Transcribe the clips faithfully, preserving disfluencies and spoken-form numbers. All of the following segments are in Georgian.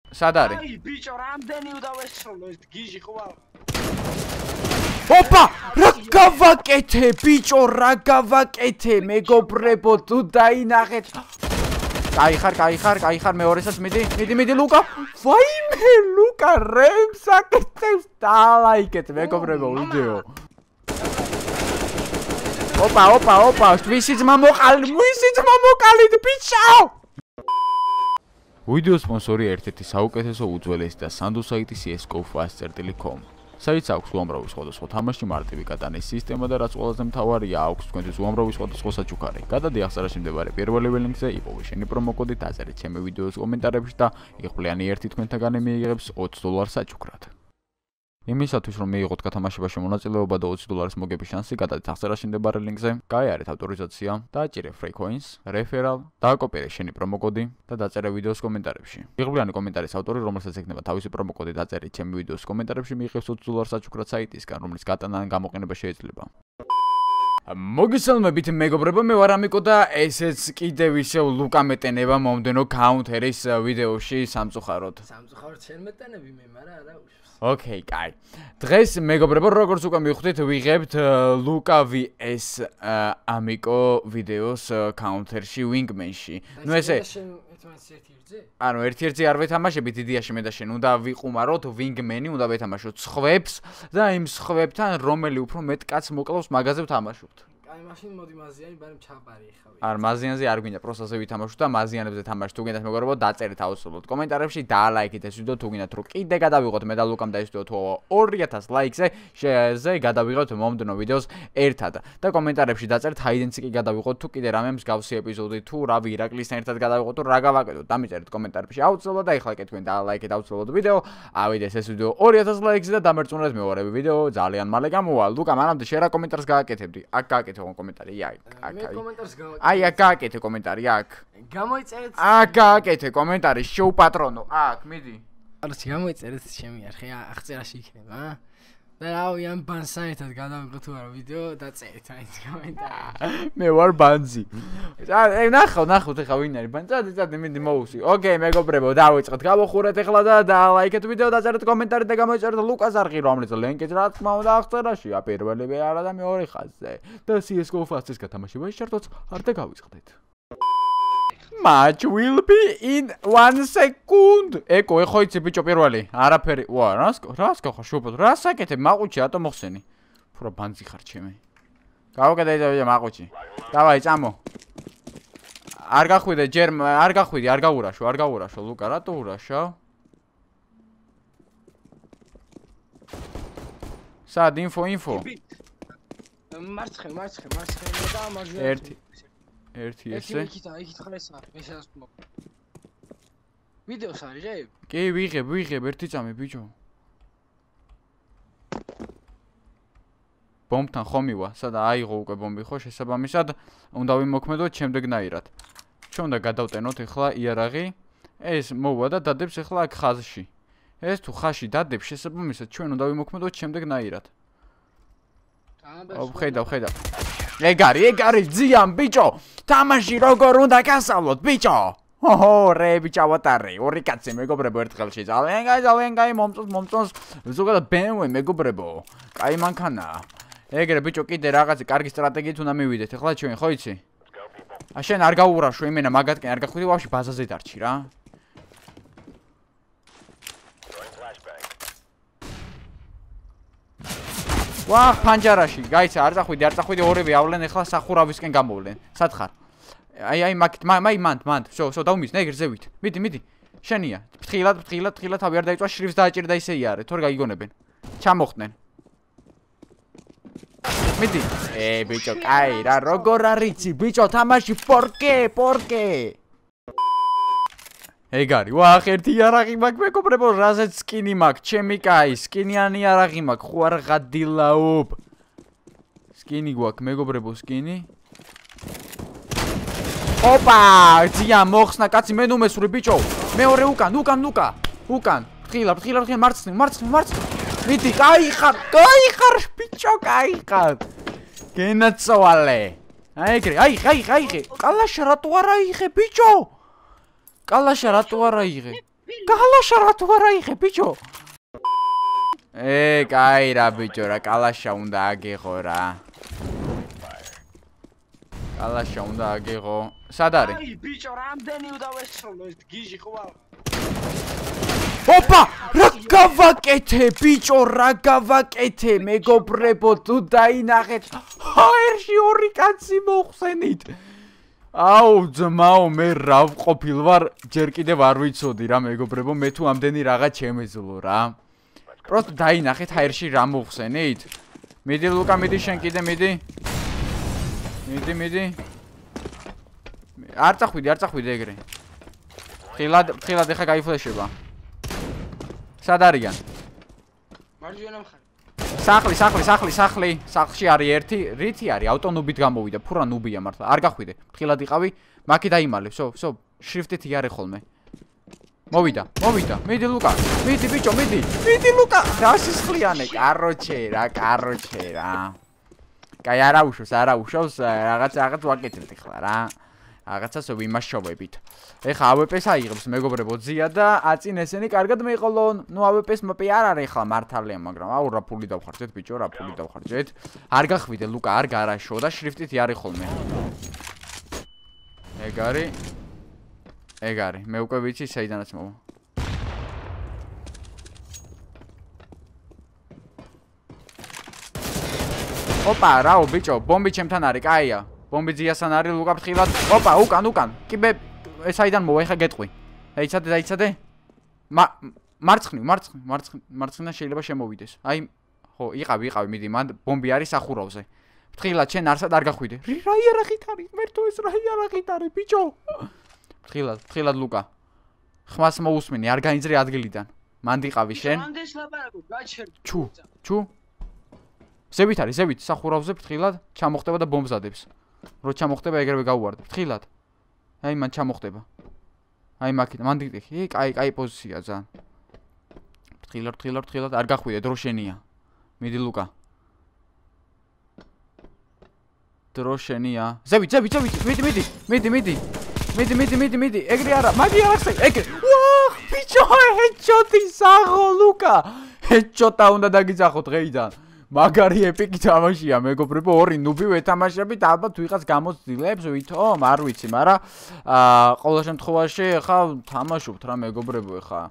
სად არის? აი, ბიჭო, რამდენი udavessolო ეს გიჟი ხო? ოპა, რა გავაკეთე, ბიჭო, რა გავაკეთე, მეგობრებო, თუ დაინახეთ. კაი ხარ, კაი ხარ, კაი ხარ, მეორესაც მიდი, მიდი, მიდი, ლუკა. ვაიმე, ლუკა, რემს აკეთებს, დალაიქეთ, მეგობრებო, ვიდეო. ოპა, ოპა, ოპა, ვისი ძმა მოყალით, ვისი ძმა მოყალით, ბიჭო! ვიდეო სპონსორი ერთ-ერთი საუკეთესო უძველესი და სანდო საიტი C S G O fast წერტილი dot com. საიტს აქვს უამრავი სხვადასხვა თამაში, მარტივი გატანის სისტემა და რაც ყველაზე მთავარია, აქვს თქვენთვის უამრავი სხვადასხვა საჩუქარი. გადადი აღწერაში მდებარე პირველი ლინკზე, იპოვე შენი პრომო კოდი, დაწერე ჩემი ვიდეოს კომენტარებში და იღბლიანი ერთი თქვენთაგანი მიიღებს ოცი დოლარს საჩუქრად. იმისათვის რომ მიიღოთ გათამაშებაში მონაწილეობა და ოცი დოლარის მოგების შანსი, გადადეთ აღწერაში მდებარე ლინკზე, გაიარეთ ავტორიზაცია, დააჭირე free coins, referral, დააკოპირე შენი პრომო კოდი და დაწერე ვიდეოს კომენტარებში. იღბლიანი კომენტარის ავტორი, რომელსაც ექნება თავისი პრომო კოდი დაწერით ჩემი ვიდეოს კომენტარებში, მიიღებს ოცი დოლარს საჩუქრად საიტისგან, რომლის გატანა ან გამოყენება შეიძლება. მოგესალმებით მეგობრებო, მე ვარ ამიკო და ესეც კიდევ ისევ ლუკა მეტენება მომდენო counter-ის ვიდეოში სამწუხაროდ. სამწუხაროდ შენ მეტენები მე, მაგრამ არა უშავს. Okay, კაი. დღეს მეგობრებო, როგორც უკვე მივხვდით, ვიღებთ ლუკა vs ამიკო ვიდეოს counter-ში wingman-ში. ნუ ესე ანუ ერთ-ერთი არ ვეთამაშებით იდეაში მე და შენ უნდა ვიყუმაროთ wingman-ი, უნდა ვეთამაშოთ სხვებს და იმ სხვებთან რომელი უფრო მეტ კაცს მოკლავს მაგაზე ვთამაშობთ. აი მაშინ მოდი მაზიანი, ბარემ ჩაბარი ხავი. არ მაზიანზე არ გვინდა, პროსტაზე ვითამაშოთ და მაზიანებზე თამაშ თუ გინდათ მეგობრებო, დაწერეთ აუცილებლად კომენტარებში, დაალაიქეთ ეს ვიდეო თუ გინდათ რომ კიდე გადავიღოთ მე და ლუკამ და ეს ვიდეო თუ ორი ათას ლაიქზე, შეზე გადავიღოთ მომდენო ვიდეოს ერთად და კომენტარებში დაწერეთ ჰაიდენცი კი გადავიღოთ თუ კიდე რამე მსგავსი ეპიზოდი თუ რავი ირაკლისთან ერთად გადავიღოთ თუ რა გავაკეთოთ, დამიწერეთ კომენტარებში აუცილებლად და ეხლა კი თქვენ დაალაიქეთ აუცილებლად ვიდეო, ავიდეს ეს ვიდეო ორი ათას ლაიქზე და დამერწმუნეთ მეორე ვიდეო ძალიან მალე გამოვა. ლუკა, მანამდე შენ რა კომენტარს გააკეთებდი? აქ გააკეთე კომენტარი, აი, აქ. მე კომენტარს გავაკეთე. აი, აქ გააკეთე კომენტარი, აქ. გამოიწერეთ. აქ გააკეთე კომენტარი, შოუ პატრონო, აქ, მიდი. არც გამოიწერეთ ჩემი არხი, აღწერაში იქნება, ა? და რავი, ამ ბანსთან ერთად გადავიღოთ თუ არა ვიდეო და წერეთ აი ეს კომენტარი. მე ვარ ბანზი. აი, ნახავ, ნახავთ ეხლა ვინ არის ბანზი. წადი, წადი, მიდი მოვუსი. ოკეი, მეგობრებო, დავიწყეთ. გავახურეთ ეხლა და დაალაიქეთ ვიდეო, დაწერეთ კომენტარი და გამოიწერეთ ლუკას არხი, რომელიც ლინკიც რა თქმა უნდა აღწერაშია, პირველი არა და მეორე ხაზზე. და C S G O fast-ის გათამაშებაში შარტოც არ და გავიწყდეთ. Match will be in one second. ეკო, ეხო იცი ბიჭო პირველი. არაფერი. ვა, რას რას გახარ შუბოთ? რას აკეთებ? მაყუჩი რატო მოხსენი? ფურა ბანძი ხარ ჩემი. გავაკეთე ეს მაყუჩი. დავაი, წამო. არ გახვიდე ჯერ, არ გახვიდი, არ გაურაშო, არ გაურაშო, ლუკა, რატო ურაშავ? სად ინფო, ინფო. მარცხენ, მარცხენ, მარცხენ და მარჯვენა. ერთი ერთი ესე. იქით, იქით ხლესა, ესეას მო. ვიდეოს არის რა? კი, ვიღებ, ვიღებ ერთი წამი ბიჭო. ბომბთან ხომივა, სადა აიღო უკვე ბომბი ხო, შესაბამისად უნდა ვიმოქმედოთ შემდეგნაირად. ჩვენ უნდა გადავტენოთ ახლა იარაღი. ეს მოვა და დადებს ახლა აქ ხაზში. ეს თუ ხაზში დადებს, შესაბამისად ჩვენ უნდა ვიმოქმედოთ შემდეგნაირად. ო, ხედავ, ხედავ. ეგ არის, ეგ არის ძიან ბიჭო. თამაში როგორ უნდა გასავლოთ ბიჭო? ოჰო, რე ბიჭო ვატარე. ორი კაცი მეგობრებო ერთხელში. ძალიან კაი, ძალიან კაი მომწონს, მომწონს. ზოგადად B M W მეგობრებო. კაი მანქანა. ეგრე ბიჭო კიდე რაღაცა კარგი სტრატეგიით უნდა მივიდეთ. ახლა ჩვენ ხო იცი? ა შენ არ გაურაშო იმენა მაგათკენ არ გახვიდი ვაფშე ბაზაზე დარჩი რა. ვა, ფანჯარაში, გაიცა, არ წახვიდი, არ წახვიდი, ორივე ავლენ ახლა სახურავისკენ გამოვლენ. სად ხარ? აი, აი, მაგ, მაი, მანდ, მანდ, შო, შო, დაუმის, ნეგერ ზევით. მიდი, მიდი. შენია. ფრთხილად, ფრთხილად, ფრთხილად, თავი არ დაიწვა, შრიფს დააჭირდა ისე იარე, თორე გაიგონებენ. ჩამოხდნენ. მიდი. ე, ბიჭო, კაი, რა, როგორ არიცი, ბიჭო, თამაში ფორკე, ფორკე. ეგ არის, ვახ, ერთი იარაღი მაქვს, მეგობრებო, რაზეც სკინი მაქვს, ჩემი კაი, სკინიანი იარაღი მაქვს, ხო არ ღადილაობ. სკინი გვაქვს, მეგობრებო, სკინი. ოპა, ძია მოხსნა, კაცი, მე ნუ მესური, ბიჭო. მეორე უკან, უკან, ლუკა, უკან. ფრთხილა, ფრთხილა, ფრთხილა, მარცხნივ, მარცხნივ, მარცხნივ. მიდი, კაი ხარ, კაი ხარ, ბიჭო, კაი ხარ. გენაცვალე. აი ეგრე, აი, აი, აი, ყალაშა რატო არ აიღე, ბიჭო? კალაშა რატო არ აიღე? კალაშა რა თუ არა იღე ბიჭო ე კაი რა ბიჭო რა კალაშა უნდა აგიღო რა კალაშა უნდა აგიღო სად არის აი ბიჭო რამდენი უნდა ვესროლო ეს გიჟი ხვალ ოპა რა გავაკეთე ბიჭო რა გავაკეთე მეგობრებო თუ დაინახეთ ჰაერში ორი კაცი მოხსენით აუ ძმაო მე რა ვყოფილ ვარ ჯერ კიდევ არ ვიცოდი რა მეგობრებო მე თუ ამდენი რაღაც შემეძლო რა პროსტ დაინახეთ ჰაერში რა მოხსენით მიდი ლუკა მიდი შენ კიდე მიდი მიდი მიდი არ წახვიდი არ წახვიდი ეგრე ხილად ხილად ეხა გაიფლეშება სად არიან მარჯვენა მხარე სახლი სახლი სახლი სახლი სახლში არის ერთი რითი არის ავტონუბით გამოვიდა ფურა ნუბია მართლა არ გახვიდე ხილად იყავი მაკი დაიმალე ვსო ვსო შრიფტით იარე ხოლმე მოვიდა მოვიდა მიდი ლუკა მიდი ბიჭო მიდი მიდი ლუკა რა სისხლიანე კაროჩე რა კაროჩე რა კაი არა უშავს არა უშავს რაღაც რაღაც ვაკეთებთ ახლა რა რაღაცას ვიმაშოვებით ეხა АВП-ს აიღებს მეგობრებო ძია და აწინ ესენი კარგად მეყოლონ ნუ АВП-ს მოპი არ არის ახლა მართალია მაგრამ აუ რა ფული დავხარჯეთ ბიჭო რა ფული დავხარჯეთ არ გახვიდე ლუკა არ გარაშო და შრიფტით იარი ხოლმე ეგ არის ეგ არის მე უკვე ვიცი საიდანაც მოვა ოპა რაო ბიჭო ბომბი ჩემთან არის კაია ბომბი ძიასთან არის ლუკა ფრთხილად ოპა უკან უკან კიბე საიდან მოვა ეხა გეტყვი დაიცადე დაიცადე მარცხნივ მარცხნივ მარცხნივ მარცხნიდან შეიძლება შემოვიდეს აი ხო იყავი იყავი მიდი მან ბომბი არის სახურავზე ფრთხილად შენ არსად არ გახვიდე რა იარაღით არის მერტო ეს რა იარაღით არის ბიჭო ფრთხილად ფრთხილად ლუკა ხმას მოусმენი არ გაინძრე ადგილიდან მან დიყავი შენ რამდენს ლაპარაკობ გაჩერდი ჩუ ჩუ ზევით არის ზევით სახურავზე ფრთხილად ჩამოხდება და ბომბს ადებს რო ჩამოხდება ეგრევე გაუვარდა ფრთხილად აი მან ჩამოხდება აი მაკეთ მან დიყი კაი კაი პოზიცია ძალიან ფრთხილად ფრთხილად ფრთხილად არ გახვიდე დრო შენია მიდი ლუკა დრო შენია ზევით ზევით ზევით მიდი მიდი მიდი მიდი მიდი მიდი მიდი მიდი ეგრე არა მაგი არახსე ეგრე ვაჰ ბიჭო ჰედშოტი საღო ლუკა ჰედშოტა უნდა დაგიძახო დღეიდან მაგარი ეპიკი თამაშია მეგობრებო ორი ნუბი ვეთამაშებით ალბათ ვიღაც გამოცდილებს ვითომ არ ვიცი მაგრამ აა ყოველ შემთხვევაში ხა თამაშობთ რა მეგობრებო ხა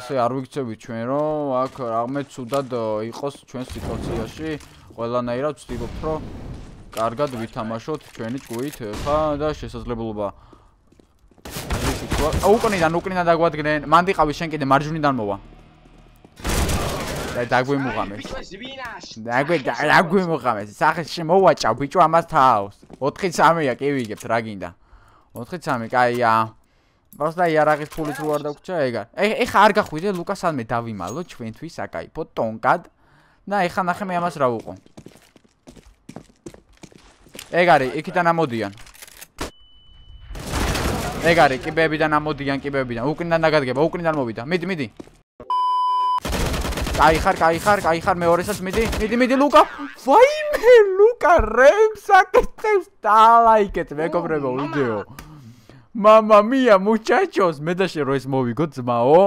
ისე არ ვიქცევით ჩვენ რომ აქ რამე ცუდად იყოს ჩვენ სიტუაციაში ყველანაირად ვცდილობთ რომ კარგად ვითამაშოთ ჩვენი ჭუით ხა და შესაძლებლობა უკნიდან უკნიდან დაგვადგნენ მან დიყავი შენ კიდე მარჯვნიდან მოვა დაგვიმუღამეს დაგვი დაგვიმუღამეს სახეში მოვაჭავ ბიჭო ამას თავს ოთხი სამია კი ვიგებთ რა გინდა ოთხი სამი კაია просто იარაღის ფულით რო არ დაგვრჩა ეგარ ეხა არ გახვიდე ლუკა სანმე დავიმალო ჩვენთვის აკაიფო ტონკად და ეხა ნახე მე ამას რა უყო ეგ არის იქიდან ამოდიან ეგ არის კიბეებიდან ამოდიან კიბეებიდან უკნიდან დაგადგება უკნიდან მოვიდა მიდი მიდი კაი ხარ, კაი ხარ, კაი ხარ მეორესაც მიდი, მიდი, მიდი ლუკა. ვაიმე ლუკა რემს აკეთებს დალაიკეთ მეგობრებო ვიდეო. მამა მია მუჩაჩოს მე და შე რო ეს მოვიგო ძმაო.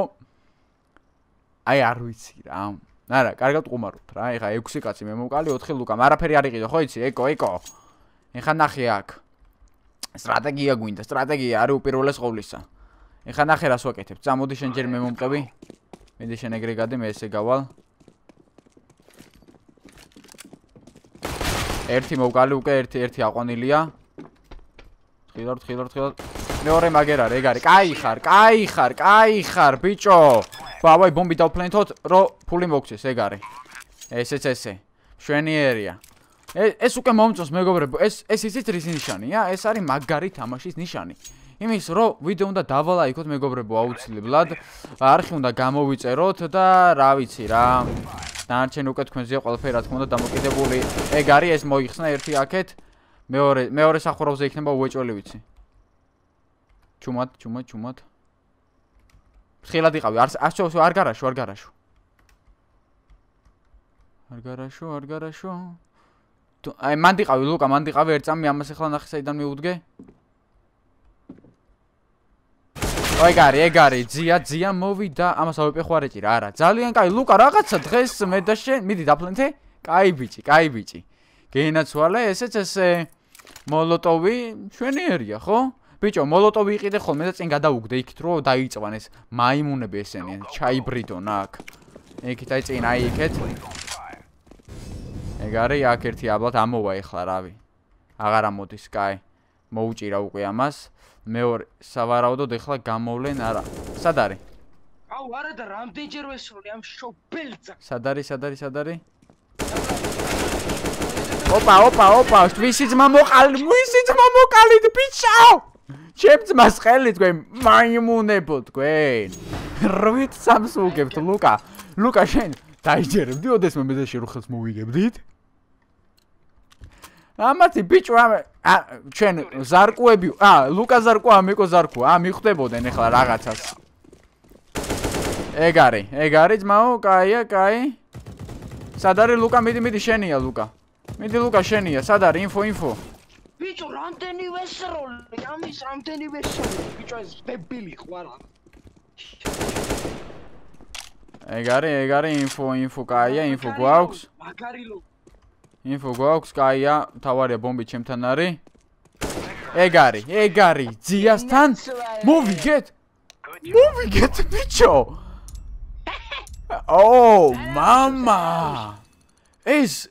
აი არ ვიცი რა. არა, კარგად ყუმარობთ რა. ეხა ექვსი კაცი მე მომკალი ოთხი ლუკა. არაფერი არ იყიდო, ხო იცი? ეკო, ეკო. ეხა ნახე აქ. სტრატეგია გვინდა, სტრატეგია არის უპირველეს ყოვლისა. ეხა ნახე რას ვაკეთებ. წამოდი შენ ჯერ მე მომყევი. მიდი შენ ეგრე გადი მე ესე გავალ ერთი მოვკალი უკვე ერთი ერთი აყვანილია ხილარ ხილარ ხილარ მეორე მაგერ არის ეგ არის კაი ხარ კაი ხარ კაი ხარ ბიჭო ვაი ბომბი დავფლენთოთ რომ ფული მოგცეს ეგ არის ესეც ესე შვენიერია ეს უკვე მომწონს მეგობრებო ეს ეს იცით რის ნიშანია ეს არის მაგარი თამაშის ნიშანი იმის რომ ვიდეო უნდა დავალაიქოთ მეგობრებო აუცილებლად არხი უნდა გამოვიწეროთ და რა ვიცი რა დანარჩენი უკვე თქვენზეა ყველაფერი რა თქმა უნდა დამოკიდებული ეგ არის ეს მოიხსნა ერთი აქეთ მეორე მეორე სახურავზე იქნება უეჭველი ვიცი ჩუმად ჩუმად ჩუმად ფრთხილად იყავი არ არ გარაშო არ გარაშო არ გარაშო არ გარაშო აი მან დიყავი ლუკა მან დიყავი ერთ წამი ამას ახლა ნახე საიდან მიუდგე აი გარი, ეგარი, ძია, ძია მოვიდა, ამას ავეპეხوارეჭი რა არა. ძალიან კაი, ლუკა რაღაცა დღეს მე და შენ, მიდი დაფლენთე. კაი ბიჭი, კაი ბიჭი. გეინაცვალე, ესეც ესე მოლოტოვი ჩვენიერია, ხო? ბიჭო, მოლოტოვი იყიდე ხოლმე და წინ გადაუგდე იქით რომ დაიწვან ეს მაიმუნები ესენი, ჩაიბრიდონ აქ. იქით აი წინ აი იქეთ. ეგარი აქ ერთი აბლად ამოვა ეხლა რავი. აღარ ამოდის, კაი. მოუჭირა უკვე ამას. მეორე სავარაუდოდ ეხლა გამოვლენ არა. სად არის? აუ არა და რამდენჯერ ვესროლი ამ შობელძა. სად არის, სად არის, სად არის? ოპა, ოპა, ოპა, ვისი ძმა მოყალით, ვისი ძმა მოყალით, ბიჭო! ჩემ ძმას ხელი თქვენ მაიმუნებო თქვენ. რვით სამს უგებთ, ლუკა. ლუკა შენ დაიჯერებდი ოდესმე მე და შენ ხელს მოვიგებდით? ამათი ბიჭო ამ ჩვენ ზარკუები, ა ლუკა ზარკუა, ამიკო ზარკუა, ა მიხვდებოდნენ ეხლა რაღაცას. ეგ არის, ეგ არის ძმაო, კაია, კაი. სად არის ლუკა, მიდი, მიდი შენია ლუკა. მიდი ლუკა შენია, სად არის ინფო, ინფო. ბიჭო, რამდენი ვესროლი, ამის რამდენი ვესროლი, ბიჭო ეს დებილი ხوارა. ეგ არის, ეგ არის ინფო, ინფო, კაია, ინფო გვაქვს. მაგარი ლო. ინფო გვაქვს, კაია, თავარია ბომბი ჩემთან არის. ეგ არის, ეგ არის, ძიასთან მოვიგეთ. მოვიგეთ ბიჭო. ო, მამა. ეს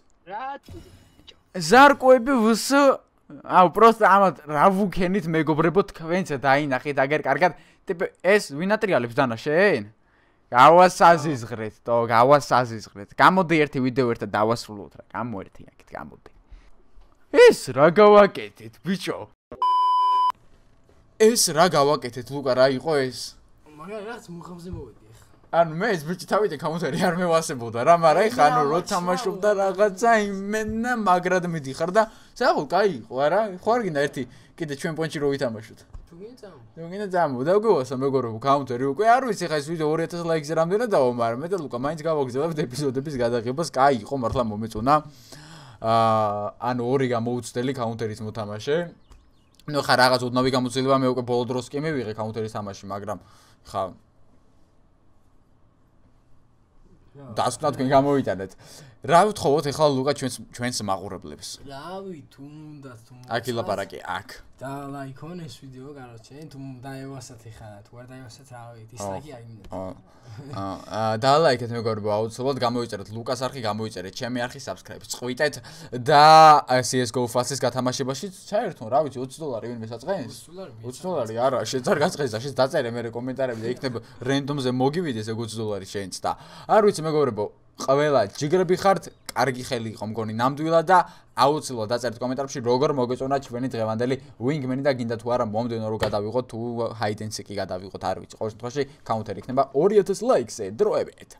ზარკოები ვს აუ პროსტა ამათ რა ვუქენით მეგობრებო თქვენც დაინახეთ აგერ კარგად ტიპი ეს ვინატრიალებს დანა შენ გავასაზიზღრეთ თო გავასაზიზღრეთ გამოდი ერთი ვიდეო ერთად დავასრულოთ რა გამოერთი აქეთ გამოდი ეს რა გავაკეთეთ ბიჭო ეს რა გავაკეთეთ ლუკა რა იყო ეს მაგარი რაღაც მუხამზე მოვედი ახლა ანუ მე ეს ბიჭი თავით კაუნტერი არ მევასებოდა რა მაგრამ ეხა ანუ რო თამაშობდა რაღაცა იმენა მაგრად მიდიხარ და საერთოდ კაი იყო არა ხო არ გინდა ერთი კიდე ჩვენ პონჩი რო ვითამაშოთ თუ გინდა წამო თუ გინდა წამო და უგევასა მეგობრებო კაუნტერი უკვე არ ვიცი ხა ეს ვიდეო ორი ათას ლაიქზე რამდენად დავა მაგრამ მე და ლუკა მაინც გავაგზავნებთ ეპიზოდების გადაღებას კაი იყო მართლა მომეწონა აა ანუ ორი გამოუცდელი კაუნტერის მოთამაშე ნუ ხა რაღაც უდნავი გამოცდილება მე უკვე ბოლო დროს კი მივიღე კაუნტერის თამაში მაგრამ ხა დასკვნად თქვენ გამოვიტანეთ. რა ვთხოვოთ ახლა ლუკა ჩვენს ჩვენს მაყურებლებს? რავი, თუ უნდა თუ აქ ილაპარაკი, აქ. და ლაიქონ ეს ვიდეო, კაროჩე, თუ დაევასათ ახლა, თუ არ დაევასათ, რავი, დისლაიკი არ მინდა. აა და ლაიქეთ მეგობრებო, აუცილებლად გამოვიწერეთ ლუკას არხი, გამოვიწერეთ ჩემი არხი, subscribe წყვიტეთ და C S G O Fast-ის გათამაშებაში ჩაერთონ, რა ვიცი, ოცი დოლარი ვინმე საწყენს? ოცი დოლარი არა, შენ არ გაწყეს და შენ დაწერე მე კომენტარები და იქნება რენდომზე მოგივიდეს ეგ ოცი დოლარი შენც და არ ვიცი მეგობრებო ყველა ჯიგრები ხართ, კარგი ხელი იყო მგონი ნამდვილად და აუცილებლად დაწერთ კომენტარებში როგორ მოგეწონა ჩვენი დღევანდელი wingman და გინდა თუ არა მომდენო რო გადავიღოთ თუ hide and seek-ი გადავიღოთ არ ვიცი ყოველ შემთხვევაში კაუნტერი იქნება ორი ათას ლაიქზე დროებით